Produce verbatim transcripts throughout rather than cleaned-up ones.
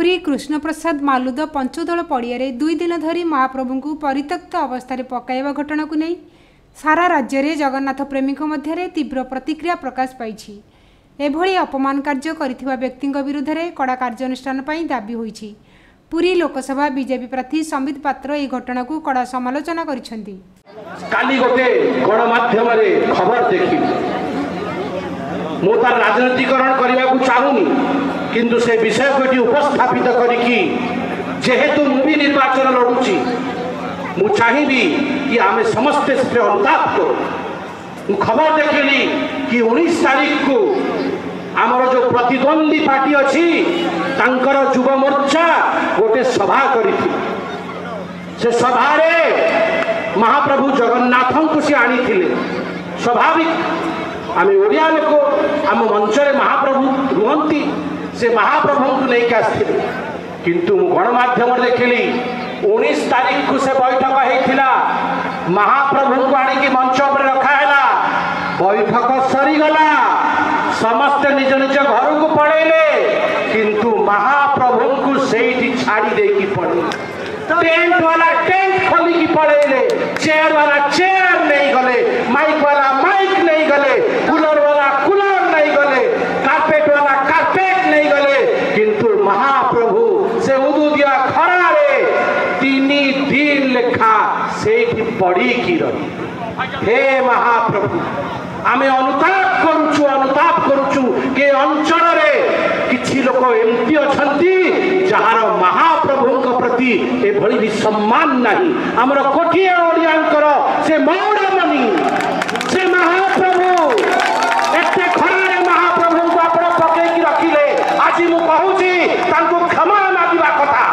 ପୁରୀ କୃଷ୍ଣପ୍ରସାଦ ମାଲୁଦ ପଞ୍ଚଦୋଳ ପଡ଼ିଆରେ ଦୁଇ ଦିନ ଧରି ମହାପ୍ରଭୁଙ୍କୁ ପରିତ୍ୟକ୍ତ ଅବସ୍ଥାରେ ପକାଇବା ଘଟଣାକୁ ନେଇ ସାରା ରାଜ୍ୟରେ ଜଗନ୍ନାଥ ପ୍ରେମୀଙ୍କ ମଧ୍ୟରେ ତୀବ୍ର ପ୍ରତିକ୍ରିୟା ପ୍ରକାଶ ପାଇଛି। ଏଭଳି ଅପମାନ କାର୍ଯ୍ୟ କରିଥିବା ବ୍ୟକ୍ତିଙ୍କ ବିରୁଦ୍ଧରେ କଡ଼ା କାର୍ଯ୍ୟାନୁଷ୍ଠାନ ପାଇଁ ଦାବି ହୋଇଛି। ପୁରୀ ଲୋକସଭା ବିଜେପି ପ୍ରାର୍ଥୀ ସମ୍ବିତ ପାତ୍ର ଏହି ଘଟଣାକୁ କଡ଼ା ସମାଲୋଚନା କରିଛନ୍ତି। କାଲି ଗୋଟେ ଗଣମାଧ୍ୟମରେ ଖବର ଦେଖିଲି। ମୁଁ ତାର ରାଜନୀତିକରଣ କରିବାକୁ ଚାହୁଁନି, କିନ୍ତୁ ସେ ବିଷୟକୁ ଏଠି ଉପସ୍ଥାପିତ କରିକି, ଯେହେତୁ ମୁଁ ବି ନିର୍ବାଚନ ଲଢୁଛି, ମୁଁ ଚାହିଁବି କି ଆମେ ସମସ୍ତେ ସେଥିରେ ଅନୁତାପ କରୁ। ମୁଁ ଖବର ଦେଖିଲି କି ଉଣେଇଶ ତାରିଖକୁ ଆମର ଯେଉଁ ପ୍ରତିଦ୍ୱନ୍ଦ୍ୱୀ ପାର୍ଟି ଅଛି, ତାଙ୍କର ଯୁବ ମୋର୍ଚ୍ଚା ଗୋଟେ ସଭା କରିଥିଲେ। ସେ ସଭାରେ ମହାପ୍ରଭୁ ଜଗନ୍ନାଥଙ୍କୁ ସେ ଆଣିଥିଲେ। ସ୍ୱାଭାବିକ, ଆମେ ଓଡ଼ିଆ ଲୋକ, ଆମ ମଞ୍ଚରେ ମହାପ୍ରଭୁ ରୁହନ୍ତି, ସେ ମହାପ୍ରଭୁଙ୍କୁ ନେଇକି ଆସିଥିଲେ। କିନ୍ତୁ ମୁଁ ଗଣମାଧ୍ୟମରେ ଦେଖିଲି, ଉଣେଇଶ ତାରିଖକୁ ସେ ବୈଠକ ହେଇଥିଲା, ମହାପ୍ରଭୁଙ୍କୁ ଆଣିକି ମଞ୍ଚ ଉପରେ ରଖାହେଲା, ବୈଠକ ସରିଗଲା, ସମସ୍ତେ ନିଜ ନିଜ ଘରକୁ ପଳେଇଲେ, କିନ୍ତୁ ମହାପ୍ରଭୁଙ୍କୁ ସେଇଠି ଛାଡ଼ି ଦେଇକି ପଳେଇଲେ। ଟେଣ୍ଟ ବାଲା ଟେଣ୍ଟ ଖୋଲିକି ପଳେଇଲେ, ଚେୟାର ବାଲା ଚେୟାର ନେଇଗଲେ, ମାଇକ୍ ବାଲା ମାଇକ୍ ନେଇଗଲେ, କୁଲର ବାଲା କୁଲର ନେଇଗଲେ, କାର୍ପେଟ ବାଲା କାର୍ପେଟ ନେଇଗଲେ, କିନ୍ତୁ ମହାପ୍ରଭୁ ସେ ଉଦୁଦିଆ ଖରାରେ ତିନି ଦିନ ଲେଖା ସେଇଠି ପଡ଼ିକି ରହିଲେ। ହେ ମହାପ୍ରଭୁ, ଆମେ ଅନୁତାପ କରୁଛୁ, ଅନୁତାପ କରୁଛୁ କି ଅଞ୍ଚଳରେ କିଛି ଲୋକ ଏମିତି ଅଛନ୍ତି ଯାହାର ମହାପ୍ରଭୁଙ୍କ ପ୍ରତି ଏଭଳି ବି ସମ୍ମାନ ନାହିଁ। ଆମର କୋଟିଏ ଓଡ଼ିଆଙ୍କର ସେ ମଉଡ଼ମଣି, ସେ ମହାପ୍ରଭୁ, ଏତେ ଖରାରେ ମହାପ୍ରଭୁଙ୍କୁ ଆପଣ ପକେଇକି ରଖିଲେ। ଆଜି ମୁଁ କହୁଛି, ତାଙ୍କୁ କ୍ଷମା ମାଗିବା କଥା।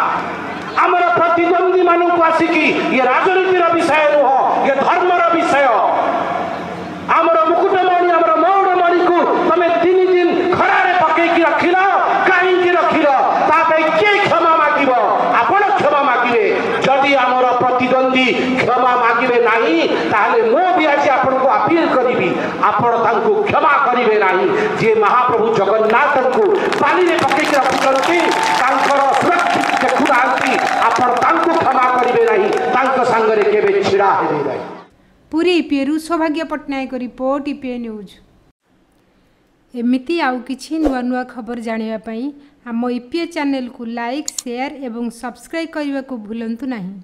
ଆମର ପ୍ରତିଦ୍ୱନ୍ଦ୍ୱୀ ମାନଙ୍କୁ ଆସିକି, ଇଏ ରାଜନୀତିର ବିଷୟ ନୁହଁ, ଇଏ ଧର୍ମର ବିଷୟ। ଆମର ମୁକୁଟମଣି, ଆମର ମଉଡ଼ମଣିକୁ ତମେ ତିନି ଦିନ ଖରାରେ ପକେଇକି ରଖିଲ, କାହିଁକି ରଖିଲ? ତା ପାଇଁ କିଏ କ୍ଷମା ମାଗିବ? ଆପଣ କ୍ଷମା ମାଗିବେ। ଯଦି ଆମର ପ୍ରତିଦ୍ୱନ୍ଦ୍ୱୀ କ୍ଷମା ମାଗିବେ ନାହିଁ, ତାହେଲେ ମୁଁ ବି ଆଜି ଆପଣଙ୍କୁ ଆପିଲ କରିବି, ଆପଣ ତାଙ୍କୁ କ୍ଷମା କରିବେ ନାହିଁ। ଯିଏ ମହାପ୍ରଭୁ ଜଗନ୍ନାଥଙ୍କୁ ପାଣିରେ ପକେଇକି ରଖୁଛନ୍ତି, ତାଙ୍କର ସୁରକ୍ଷିତ ଦେଖୁନାହାନ୍ତି, ଆପଣ ତାଙ୍କୁ କ୍ଷମା କରିବେ ନାହିଁ, ତାଙ୍କ ସାଙ୍ଗରେ କେବେ ଛିଡ଼ା ହେବେ ନାହିଁ। ପୁରୀ ଇପିଏରୁ ସୌଭାଗ୍ୟ ପଟ୍ଟନାୟକ ରିପୋର୍ଟ, ଇପିଏ ନ୍ୟୁଜ୍। ଏମିତି ଆଉ କିଛି ନୂଆ ନୂଆ ଖବର ଜାଣିବା ପାଇଁ ଆମ ଇପିଏ ଚ୍ୟାନେଲକୁ ଲାଇକ୍, ସେୟାର ଏବଂ ସବସ୍କ୍ରାଇବ୍ କରିବାକୁ ଭୁଲନ୍ତୁ ନାହିଁ।